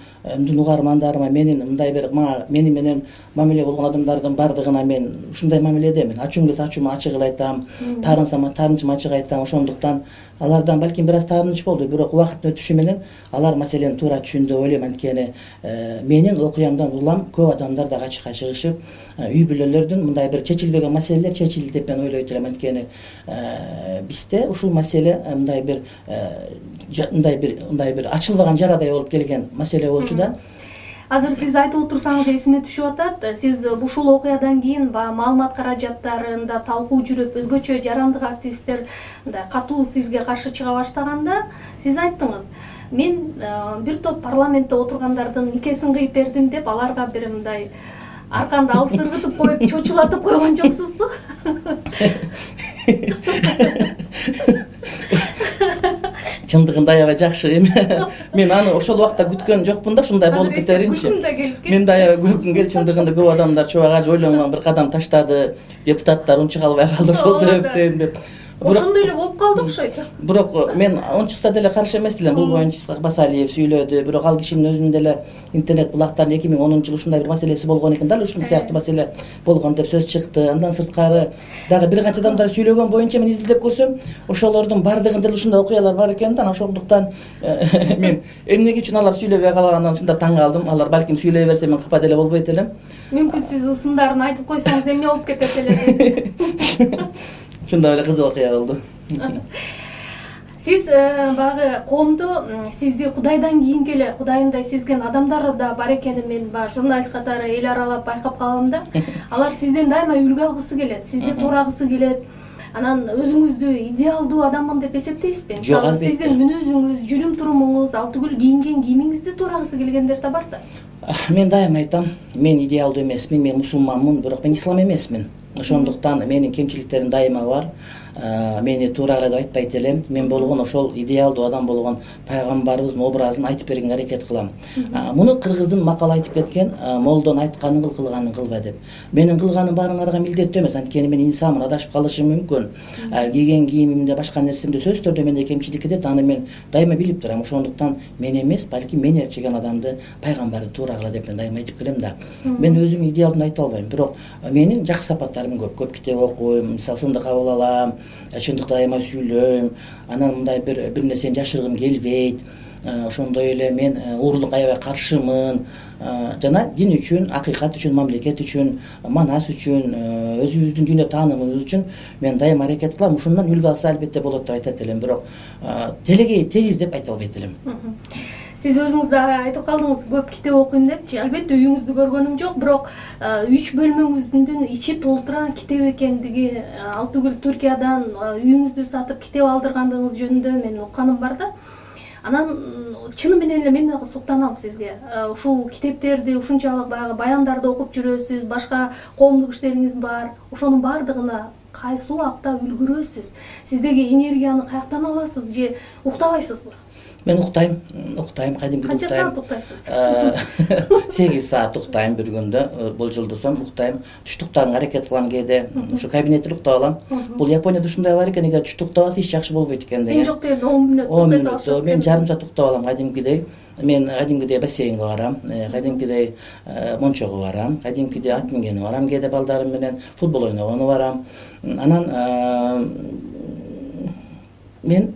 угармандарыма менин мындай бир мени менен мамиле болгон адамдардын бардыгына мен ушундай мамиледемин. Ачуум келсе ачууmu ачык эле айтам, таарынсам таарынычымы ачык айтам. Ошондуктан алардан балким бир аз таарыныч болду, бирок убакыттын өтүшү менен алар маселени туура түшүндү деп ойлойм. Анткени менин окуямдан улам көп адамдар дагы ачыкка чыгышып, үй бүлөлөрдүн мындай бир чечилбеген маселелер чечилди деп мен ойлойт элем. Анткени бизде ушул маселе мындай бир мындай бир мындай бир ачылбаган жарадай болуп келген маселе болчу да. Азыр сиз айтып отурсаңыз эсиме түшүп атат. Сиз ушул окуядан кийин маалымат каражаттарында талкуу жүрүп, өзгөчө жарандык активисттер мындай катуу сизге каршы чыга баштаганда, сиз айттыңыз, мен бир топ парламентте отургандардын никесин кыйып бердим деп, аларга бир мындай арканды алып сыргытып коюп, чочулатып койгон жоксузбу? чындыгында аябай жакшы эми мен аны ошол убакта күткөн жокмун да ушундай болуп кетеринчи. Мен да аябай күлкүм келди, чындыгында көп адамдар чубак ойлонгон бир кадам таштады, депутаттар унча калбай калды ошол себептен деп. Ошондой эле болуп калды окшойт. Бирок мен унчуста деле каршы эмес элем. Бул боюнча Исхак Басалиев сүйлөдү. Бирок ал кишинин өзүнүн деле интернет булактарында эки миң онунчу жылы ушундай бир маселеси болгон экен, дал ушул сыяктуу маселе болгон деп сөз чыкты. Андан сырткары дагы бир канча адамдар сүйлөгөн боюнча мен изилдеп көрсөм, ошолордун бардыгында деле ушундай окуялар бар экен да. Ошондуктан мен эмнеге үчүн алар сүйлөбөй калганынан чындап таң калдым. Алар балким сүйлөй берсе мен капа деле болбойт элем. Мүмкүн сиз ысымдарын айтып койсоңуз эмне болуп кетет эле. Ушундай эле кызык окуя болду. Сиз багы коомдо сизди Кудайдан кийинки эле Кудайындай сезген адамдар да бар экенин мен баягы журналист катары эл аралап байкап калдым да. Алар сизден дайыма үлгү алгысы келет, сизди туурагысы келет. Анан өзүңүздү идеалдуу адаммын деп эсептейсизби? Мисалы сиздин мүнөзүңүз, жүрүм турумуңуз, ал түгүл кийинген кийимиңизди туурагысы келгендер да бар да. Мен дайыма айтам, мен идеалдуу эмесмин, мен мусулманмын, бирок мен ислам эмесмин. Ошондуктан менин кемчиликтерим дайыма бар. Мени туура деп айтпайт элем. Мен болгон ошол идеалдуу адам болгон пайгамбарыбыздын образын айтып бергенге аракет кылам. Муну кыргыздын макалы айтып кеткен, молдон айтканын кыл, кылганын кылба деп. Менин кылганым баарыңарга милдеттүү эмес, анткени мен инсанмын, адашып калышым мүмкүн. Кийген кийимимде, башка нерсемде сөзсүз түрдө менде кемчилик кетет, аны мен дайыма билип турам. Ошондуктан мен эмес, балки мени ээрчиген адамды, пайгамбарды туура кыла деп мен дайыма айтып келем да. Мен өзүм идеалдуу айта албайм, бирок менин жакшы сапаттарым көп. Көп китеп окуйм, мисалы сынды кабыл алам, чындыкты дайыма сүйлөйм, анан мындай бир бир нерсени жашыргым келбейт. Ошондой эле мен уурулукка аябай каршымын. Жана дин үчүн, акыйкат үчүн, мамлекет үчүн, манас үчүн, өзүбүздүн дүйнө таанымыбыз үчүн мен дайыма аракет кылам. Ушундан үлгү алса албетте болот деп айтат элем, бирок телегей тегиз деп айта албайт элем. Сиз өзүңүз да айтып калдыңыз, көп китеп окуйм депчи. Албетте үйүңүздү көргөнүм жок, бирок үч бөлмөңүздүн ичи толтура китеп экендиги, ал түгүл Түркиядан үйүңүздү сатып китеп алдыргандыгыңыз жөнүндө мен укканым бар да. Анан чыны менен эле мен дагы суктанам сизге. Ушул китептерди, ушунчалык баягы баяндарды окуп жүрөсүз, башка коомдук иштериңиз бар. Ошонун баардыгына кайсы убакта үлгүрөсүз? Сиздеги энергияны каяктан аласыз же уктабайсызбы? Мен уктайм, уктайм, кадимки уктайм. Канча саат уктайсыз? сегиз саат уктайм бир күндө, болжолдосом уктайм. Түштүк уктаганга аракет кылам кээде. Ушу кабинетте уктап алам. Бул Японияда ушундай бар экен, эгер түштүк уктабаса иш жакшы болбойт экен деген. Эң жок дегенде он мүнөт уктап алам. Мен жарым саат уктап алам кадимкидей. Мен кадимкидей бассейнге барам, кадимкидей мончого барам, кадимкидей ат мингени барам, кээде балдарым менен футбол ойногону барам. Анан мен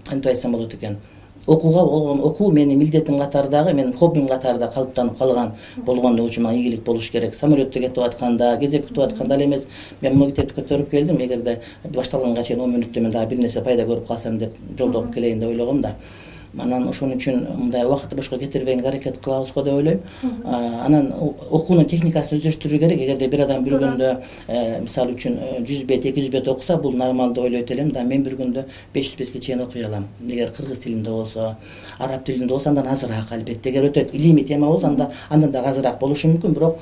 антип айтсам болот экен. Окууга болгон окуу менин милдетим катардагы, менин хоббим катарында калыптанып калган болгондугу үчүн мага ийгилик болуш керек. Самолетто кетип атканда, кезек күтүп атканда эле эмес, мен бул китепти көтөрүп келдим. Эгерде башталганга чейин он мүнөттө мен дагы бир нерсе пайда көрүп калсам деп жолдо окуп келейин деп ойлогом да. Анан ошон үчүн мындай убакытты бошко кетирбегенге аракет кылабыз го деп ойлойм. Анан окуунун техникасын өздөштүрүү керек. Эгерде бир адам бир күндө мисалы үчүн жүз бет, эки жүз бет окуса, бул нормал деп ойлойт элем да. Мен бир күндө беш жүз бетке чейин окуй алам. Эгер кыргыз тилинде болсо, араб тилинде болсо андан азыраак албетте. Эгер өтө илимий тема болсо, анда андан да азыраак болушу мүмкүн, бирок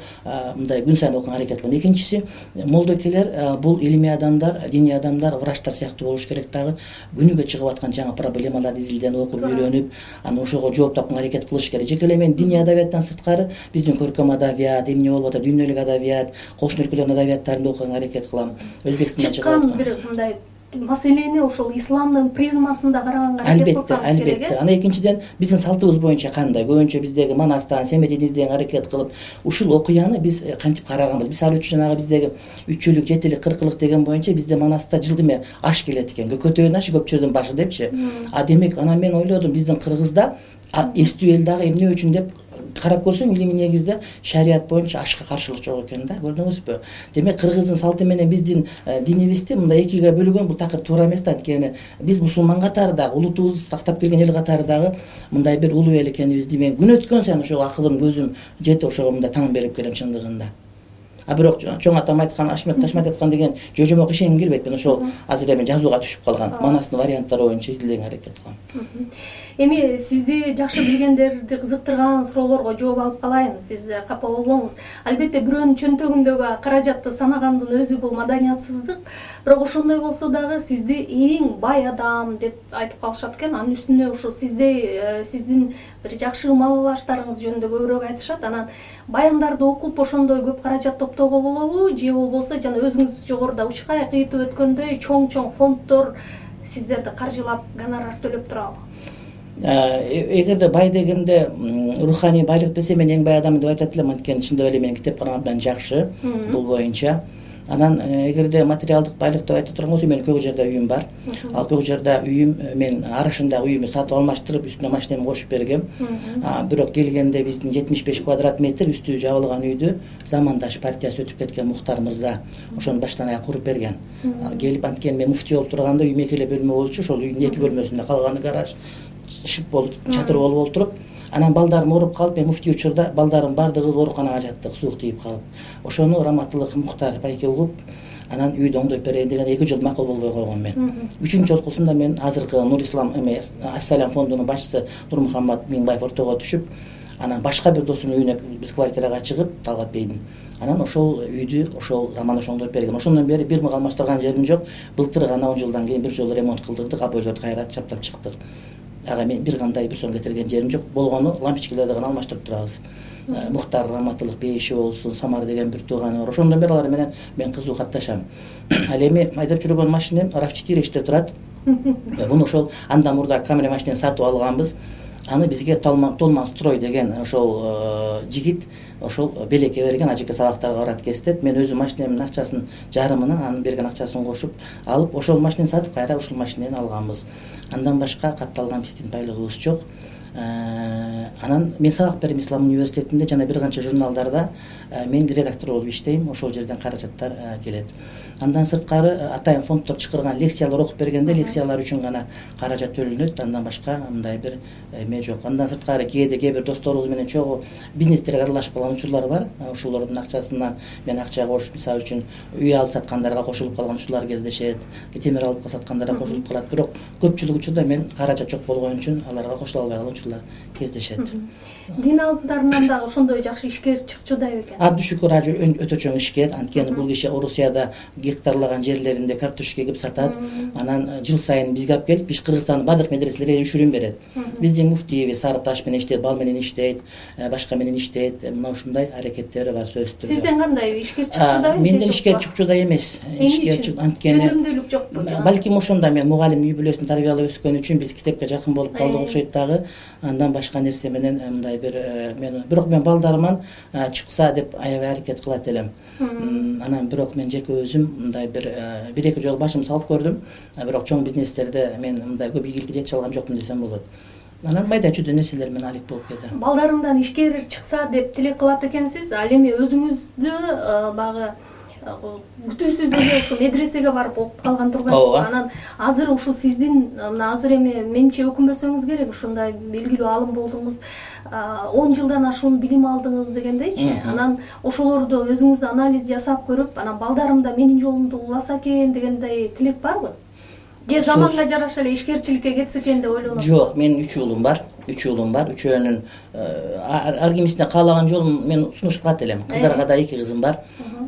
мындай күн сайын окуганга аракет кылам. Экинчиси, молдокелер бул илимий адамдар, диний адамдар, врачтар сыяктуу болуш керек дагы. Күнүгө чыгып аткан жаңы проблемаларды изилден окуп анан ошого жооп тапканга аракет кылыш керек. Жеке эле мен диний адабияттан сырткары биздин көркөм адабият, эмне болуп атат, дүйнөлүк адабият, кошмо өлкөлөрдүн адабияттарын окуганга аракет кылам. Өзбекстанда чыккан бир мындай маселени ошол исламдын призмасында караганга аракет кылсаңыз керек. Албетте, албетте. Анан экинчиден биздин салтыбыз боюнча кандай? Көбүнчө биздеги манастан, семетин издегенге аракет кылып, ушул окуяны биз кантип караганбыз? Мисалы үчүн жанагы биздеги үччүлүк, жетилик, кыркылык деген боюнча бизде манаста жылда эме аш келет экен. Көкөтөөнүн ашы көпчүлүктүн башы депчи. А демек анан мен ойлодум, биздин Кыргызда эстүү эл дагы эмне үчүн деп карап көрсөм, илимий негизде шарият боюнча ашка каршылык жок экен да, көрдүңүзбү? Демек Кыргыздын салты менен биздин динибизди мындай экиге бөлгөн бул такыр туура эмес да, анткени биз мусулман катарындагы, улутубузду сактап келген эл катарындагы мындай бир улуу эл экенибизди мен күн өткөн сайын ошого акылым, көзүм жетип ошого мындай таң берип келем чындыгында. а бирок чоң атам айткан Ашмет Ташмат айткан деген жожомок ишенгим келбейт. Мен ошол азыр эми жазууга түшүп калган маанасынын варианттары боюнча изилдөөгө аракет кылам. Эми сизди жакшы билгендерди кызыктырган суроолорго жооп алып калайын. Сиз капа болбоңуз. Албетте бирөөнүн чөнтөгүндөгү каражатты санагандын өзү бул маданиятсыздык. Бирок ошондой болсо дагы сизди эң бай адам деп айтып калышат экен. Анын үстүнө ушу сизде сиздин бир жакшы маалаштарыңыз жөнүндө көбүрөөк айтышат. Анан баяндарды окуп ошондой көп каражат топтоого болобу? Же болбосо жана өзүңүз жогоруда учкай кыйтып өткөндөй чоң-чоң фонддор сиздерди каржылап гонорар төлөп турабы? Эгерде бай дегенде руханий байлык десе мен эң бай адам деп айтат элем. Анткени чындап эле менин китепканам абдан жакшы бул боюнча. Анан эгерде материалдык байлык деп айта турган болсо менин Көк Жарда үйүм бар. Ал Көк Жарда үйүм мен арашындагы үйүмдү сатып алмаштырып, үстүнө машинамды кошуп бергем. Бирок келгенде биздин жетимиш беш квадрат метр үстү жабылган үйдү замандаш партиясы өтүп кеткен Мухтар мырза ошону баштан аяк куруп берген. Келип анткени мен муфтий болуп турганда үйүм эки эле бөлмө болчу. Ошол үйдүн эки бөлмөсүндө калганы гараж шып болуп чатыр болуп отуруп, анан балдарым ооруп калып, мен муфтий учурда балдарым бардыгы ооруканага жаттык, суук тийип калып. Ошону раматтылык Мухтар байке угуп, анан үйдү оңдоп берейин деген эки жол макул болбой койгон мен. Үчүнчү жолкусунда мен азыркы Нур Ислам эме Ассалам фондунун башчысы Нурмухаммад Миңбаев ортого түшүп, анан башка бир досунун үйүнө биз квартирага чыгып, Талгат бейдин. Анан ошол үйдү ошол заманаш оңдоп берген. Ошондон бери бир мык алмаштырган жерим жок. Былтыр гана он жылдан кийин бир жолу ремонт кылдырдык, обойлорду кайра чаптап чыктык. Ага мен бир кандай бир сом кетирген жерим жок. Болгону лампочкаларды гана алмаштырып турабыз. Мухтар раматтылык бейиши болсун, Самар деген бир тууганы бар. Ошондон бери алар менен мен кызуу катташам. Ал эми айдап жүргөн машинем рав четыре ичте турат. Муну ошол андан мурда камера машинени сатып алганбыз. Аны бизге Толман строй деген ошол жигит ошол белекке берген, ажыка сабактарга барат кестеп, мен өзүм машинемдин акчасын жарымына анын берген акчасын кошуп алып, ошол машинени сатып кайра ушул машинени алганбыз. Андан башка катталган биздин байлыгыбыз жок. Анан мен сабак берем Ислам университетинде жана бир канча журналдарда мен редактор болуп иштейм. Ошол жерден каражаттар келет. Андан сырткары атайын фонддор чакырган лекциялар окуп бергенде лекциялар үчүн гана каражат төлөнөт. Андан башка мындай бир эме жок. Андан сырткары кээде кээ бир досторубуз менен чогуу бизнестерге аралашып калган учурлар бар. Ошолордун акчасынан мен акча кошуп, мисалы үчүн үй алып саткандарга кошулуп калган учурлар кездешет. Темир алып саткандарга кошулуп калат. Бирок көпчүлүк учурда мен каражат жок болгон үчүн аларга кошула албай калган учурлар кездешет. Дин алдындарынан дагы ошондой жакшы ишкер чыкчудай экен. Абды шүкүр ажы өтө чоң ишкер. Анткени бул киши Орусияда гектарлаган жерлеринде картошка эгип сатат. Анан жыл сайын бизге алып келип, биз Кыргызстандын бардык медреселерге үшүрүн берет. Биздин муфтийбиз Сары Таш менен иштейт, Бал менен иштейт, башка менен иштейт. Мына ушундай аракеттери бар сөзсүз түрдө. Сизден кандай ишкер чыкчудай? Менден ишкер чыкчудай эмес. Ишкер анткени өнүмдүүлүк жокпу? Балким ошондо мен мугалим үй бүлөсүн тарбиялап өскөн үчүн биз китепке жакын болуп калдык окшойт дагы. Андан башка нерсе менен мындай бир мен бирок мен балдарыман чыкса деп аябай аракет кылат элем. Анан бирок мен жеке өзүм мындай бир бир эки жолу башым салып көрдүм. Бирок чоң бизнестерде мен мындай көп ийгиликке жете алган жокмун десем болот. Анан майда чүйдө нерселер менен алек болуп кетем. Балдарымдан ишкер чыкса деп тилек кылат экенсиз. Ал эми өзүңүздү багы күтүүсүз эле ушу медресеге барып окуп калган тургансыз. Анан азыр ушу сиздин мына азыр эми менче өкүнбөсөңүз керек, ушундай белгилүү алым болдуңуз, он жылдан ашуун билим алдыңыз дегендейчи. Анан ошолорду өзүңүз анализ жасап көрүп, анан балдарым да менин жолумду уласа экен дегендей тилек барбы? Же заманга жараша эле ишкерчиликке кетсе экен деп ойлоносузбу? Жок, менин үч уулум бар. Үч уулум бар. Үчөөнүн ар кимисине каалаган жолун мен сунуш кылат элем. Кыздарга да эки кызым бар.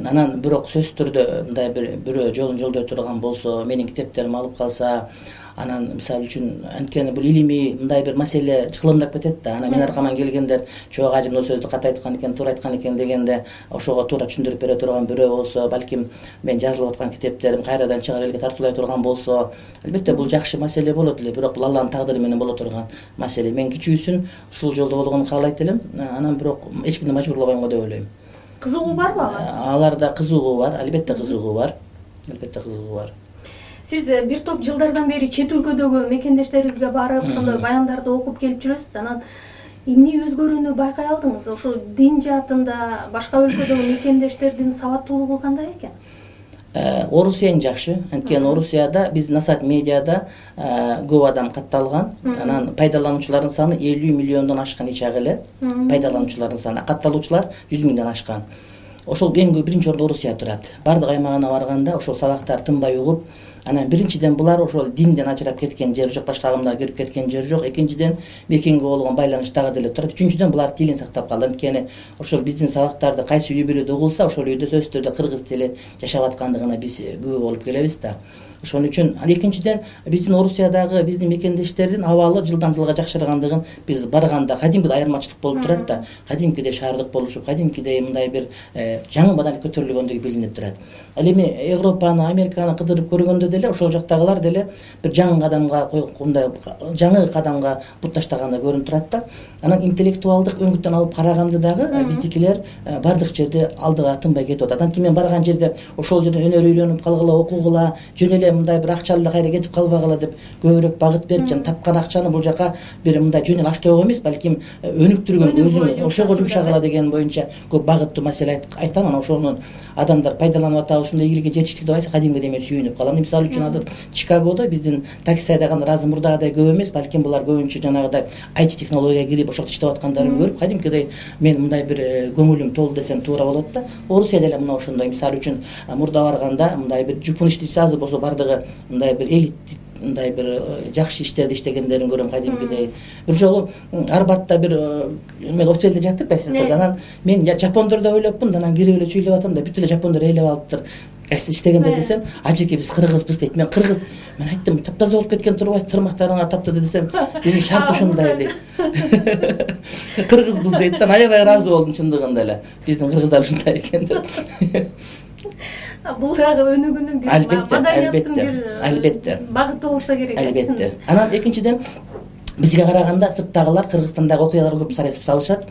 Анан бирок сөзсүз түрдө мындай бир бирөө жолун жолдой турган болсо, менин китептеримди алып калса, анан мисалы үчүн анткени бул илимий мындай бир маселе чыкылымдап кетет да. Анан мен аркаман келгендер чоо ажы мына сөздү ката айткан экен, туура айткан экен дегенде ошого туура түшүндүрүп бере турган бирөө болсо, балким мен жазылып аткан китептерим кайрадан чыгар элге тартуулай турган болсо, албетте бул жакшы маселе болот эле. Бирок бул Алланын тагдыры менен боло турган маселе. Мен кичүүсүн ушул жолдо болгонун каалайт элем. Анан бирок эч кимди мажбурлабайм го деп ойлойм. Кызыгуу барбы ага? Аларда кызыгуу бар, албетте кызыгуу бар. Албетте кызыгуу бар. Сиз бир топ жылдардан бери чет өлкөдөгү мекендештерибизге барып, ошондой баяндарды окуп келип жүрөсүз. Анан эмне өзгөрүүнү байкай алдыңыз? Ошо дин жаатында башка өлкөдөгү мекендештердин сабаттуулугу кандай экен? Орусия эң жакшы. Анткени Орусияда биз Насат медиада көп адам катталган. Анан пайдалануучулардын саны элүү миллиондон ашкан эч ак эле. Пайдалануучулардын саны, катталуучулар жүз миңден ашкан. ошол эң көп биринчи орунда Орусия турат. Бардык аймагына барганда ошол сабактар тынбай угуп, анан биринчиден булар ошол динден ажырап кеткен жери жок, башка агымдарга кирип кеткен жери жок. Экинчиден мекенге болгон байланыш дагы деле турат. Үчүнчүдөн булар тилин сактап калды. Анткени ошол биздин сабактарды кайсы үй бүлөдө угулса, ошол үйдө сөзсүз түрдө кыргыз тили жашап аткандыгына биз күбө болуп келебиз да. Ошон үчүн экинчиден биздин Орусиядагы биздин мекендештердин абалы жылдан жылга жакшыргандыгын биз барганда кадимки айырмачылык болуп турат да. Кадимкидей шаардык болушуп, кадимкидей мындай бир жаңы маданият көтөрүлгөндүгү билинип турат. Ал эми Европаны, Американы кыдырып көргөндө деле ошол жактагылар деле бир жаңы кадамга мындай жаңы кадамга бут таштаганы көрүнүп турат да. Анан интеллектуалдык өңүттөн алып караганды дагы биздикилер бардык жерде алдыга тынбай кетип атат. Анткени мен барган жерде ошол жерден өнөр үйлөнүп калгыла, окугула, жөн эле мындай бир акча алып кайра кетип калбагыла деп көбүрөөк багыт берип, жана тапкан акчаны бул жака бир мындай жөн эле аш тоого эмес, балким өнүктүргөн, өзүн ошого жумшагыла деген боюнча көп багыттуу маселе айтам. Анан ошонун адамдар пайдаланып атабы, ушундай ийгиликке жетиштик деп айтса, кадимгидей мен сүйүнүп калам. Мисалы үчүн азыр Чикагодо биздин такси айдагандар азыр мурдагыдай көп эмес, балким булар көбүнчө жанагыдай ай ти технологияга кирип ошол иштеп аткандарын көрүп, кадимкидей мен мындай бир көңүлүм толду десем туура болот да. Орусия деле мына ошондой. Мисалы үчүн мурда барганда мындай бир жупун иштечиси азыр болсо бардыгы мындай бир элит, мындай бир жакшы иштерди иштегендерин көрөм кадимкидей. Бир жолу Арбатта бир мен отелде жатып эсесиз, анан мен жапондорду ойлопмун, анан кирип эле сүйлөп атам да, бүт эле жапондор ээлеп алыптыр. Кайсы иштегендер десем, ажеке биз кыргызбыз дейт. Мен кыргыз, мен айттым, таптаза болуп кеткен турбайсыз, тырмактарыңар таптаза десем, биздин шарт ушундай дейт. Кыргызбыз дейт да, аябай ыраазы болдум чындыгында эле. Биздин кыргыздар ушундай экен деп. Бул дагы өнүгүүнүн бир маданияттын бир албетте багыты болсо керек. Албетте. Анан экинчиден бизге караганда сырттагылар Кыргызстандагы окуяларга көп сарайсып салышат.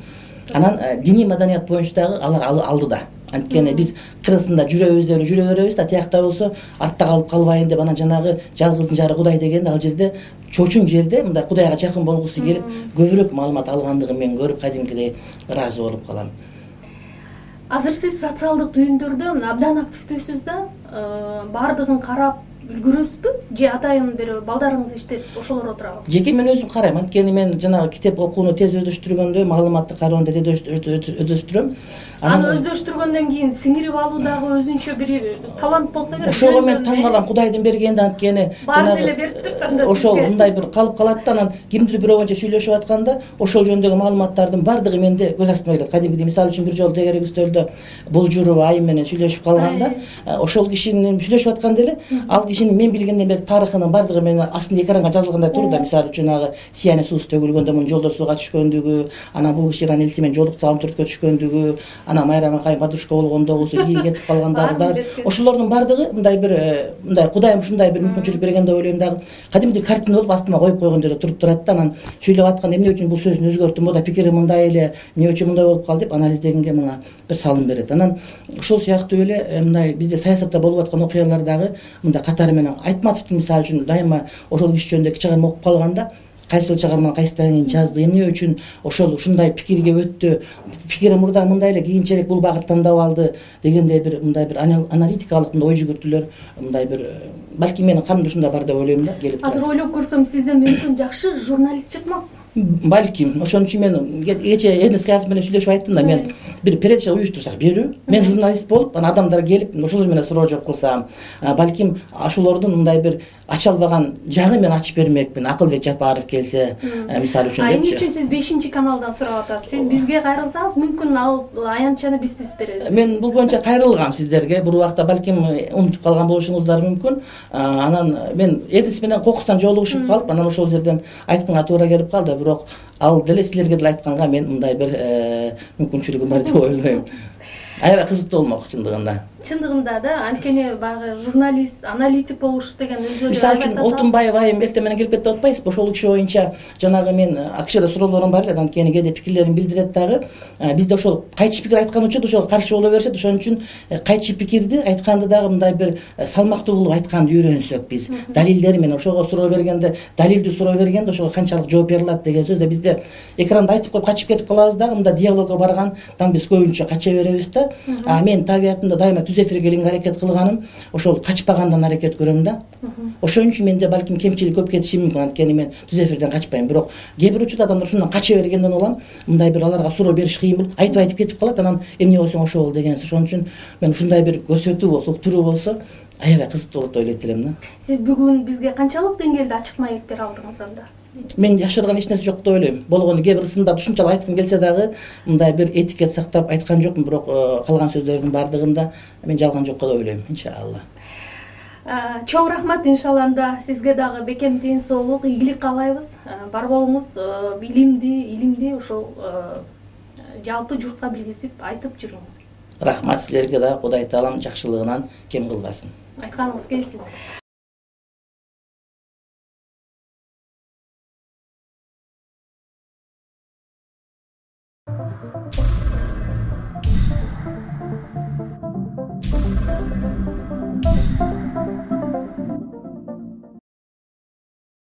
Анан диний маданият боюнча дагы алар алдыда. Анткени биз Кыргызстанда жүрөбүз деп жүрө беребиз да, тиякта болсо артта калып калбайын деп анан жанагы жалгыздын жары Кудай дегенде ал жерде чочун жерде мындай Кудайга жакын болгусу келип көбүрөөк маалымат алгандыгын мен көрүп кадимкидей ыраазы болуп калам. Азыр сиз социалдык түйүндөрдө абдан активдүүсүз да, баардыгын карап үлгүрөсүзбү же атайын бир балдарыңыз иштеп ошолор отурабы? Жеке мен өзүм карайм. Анткени мен жанагы китеп окууну тез өздөштүргөндө, маалыматты кароону тез өздөштүрөм. Аны өздөштүргөндөн кийин сиңирип алуу дагы өзүнчө бир талант болсо керек. Ошого мен таң калам, Кудайдын бергенде. Анткени баары эле бериптир танда ошол мындай бир калып калат да, анан кимдир бирөө боюнча сүйлөшүп атканда ошол жөнүндөгү маалыматтардын баардыгы менде көз астыма келет. Кадимгидей мисалы үчүн бир жолу тегерек үстөлдө Болжурова айым менен сүйлөшүп калганда, ошол кишинин сүйлөшүп атканда эле ал кишинин мен билгенден бери тарыхынын баардыгы менин астында экранга жазылгандай турду да. Мисалы үчүн ага Сияне суусу төгүлгөндө мунун жолдо сууга түшкөндүгү, анан бул киши элси менен жолук салым түрткө түшкөндүгү, анан Майрам акайым подружка болгондогусу, кийин кетип калгандыгы дагы ошолордун баардыгы мындай бир мындай Кудайым ушундай бир мүмкүнчүлүк берген деп ойлойм дагы. Кадимдей картина болуп астыма коюп койгон жерде туруп турат да. Анан сүйлөп атканда эмне үчүн бул сөзүн өзгөрттүм, мода пикири мындай эле, эмне үчүн мындай болуп калды деп анализдегенге мага бир салым берет. Анан ошол сыяктуу эле мындай бизде саясатта болуп аткан окуялар дагы мындай катары менен Айтматовдун мисалы үчүн дайыма ошол киши жөнүндө чыгарма окуп калганда кайсыл чыгарманы кайсыдан кийин жазды, эмне үчүн ошол ушундай пикирге өттү, пикири мурда мындай эле, кийинчерээк бул багыт тандап алды дегендей бир мындай бир аналитикалык ой жүгүртүүлөр мындай бир балки менин канымда ушундай бар деп ойлойм да, келип. Азыр ойлоп көрсөм сизден мүмкүн жакшы журналист чыкмак. Балким ошон үчүн мен кече Эрнест Каясов менен сүйлөшүп айттым да, мен бир передача уюштурсак берүү, мен журналист болуп, анан адамдар келип ошолор менен суроо жооп кылсам, балким ошолордун мындай бир ача албаган жагын мен ачып бермекмин. Акылбек Жапаров келсе, мисалы үчүн депчи. Эмне үчүн сиз бешинчи каналдан сурап атасыз? Сиз бизге кайрылсаңыз, мүмкүн ал аянтчаны биз түзүп беребиз. Мен бул боюнча кайрылгам сиздерге. Бул убакта балким унутуп калган болушуңуздар мүмкүн. Анан мен Эрнест менен кокустан жолугушуп калып, анан ошол жерден айтканга туура келип калды. Бирок ал деле силерге деле айтканга мен мындай бир мүмкүнчүлүгүм бар деп ойлойм. Аябай кызыктуу болмок чындыгында. Чындыгында да, анткени баягы журналист, аналитик болуш деген өзү. Мисалы үчүн Отунбаев айым эртең менен келип кетип атпайсызбы? Ошол киши боюнча жанагы мен акшда суроолорум бар эле, анткени кээде пикирлерин билдирет дагы. Бизде ошол кайчы пикир айткан үчүн ошого каршы боло беришет. Ошон үчүн кайчы пикирди айтканды дагы мындай бир салмактуу кылып айтканды үйрөнсөк биз, далилдери менен ошого суроо бергенде, далилдүү суроо бергенде ошого канчалык жооп бере алат деген сөз да бизде экранда айтып коюп качып кетип калабыз дагы, мында диалогко баргандан биз көбүнчө кача беребиз да. А мен табиятымда дайыма түз эфирге келгенге аракет кылганым ошол качпагандан аракет көрөм да. Ошон үчүн менде балким кемчилик көп кетиши мүмкүн, анткени мен түз эфирден качпайм. Бирок кээ бир учурда адамдар ушундан кача бергенден улам мындай бир аларга суроо бериш кыйын болуп, айтып айтып кетип калат, анан эмне болсоң ошо бол деген. Ошон үчүн мен ушундай бир көрсөтүү болсо, уктуруу болсо аябай кызыктуу болот деп ойлойт элем да. Сиз бүгүн бизге канчалык деңгээлде ачык маектер алдыңыз анда? Мен жашырган эч нерсе жок деп ойлойм. Болгону кээ бир сындарды ушунчалык айткым келсе дагы мындай бир этикет сактап айткан жокмун, бирок калган сөздөрдүн баардыгында мен жалган жок деп ойлойм, иншалла. Чоң рахмат, иншалла. Сизге дагы бекем тен соолук, ийгилик каалайбыз. Бар болуңуз, билимди, илимди ошол жалпы журтка билгизип айтып жүрүңүз. Рахмат силерге да, Кудай таалам жакшылыгынан кем кылбасын. Айтканыңыз келсин.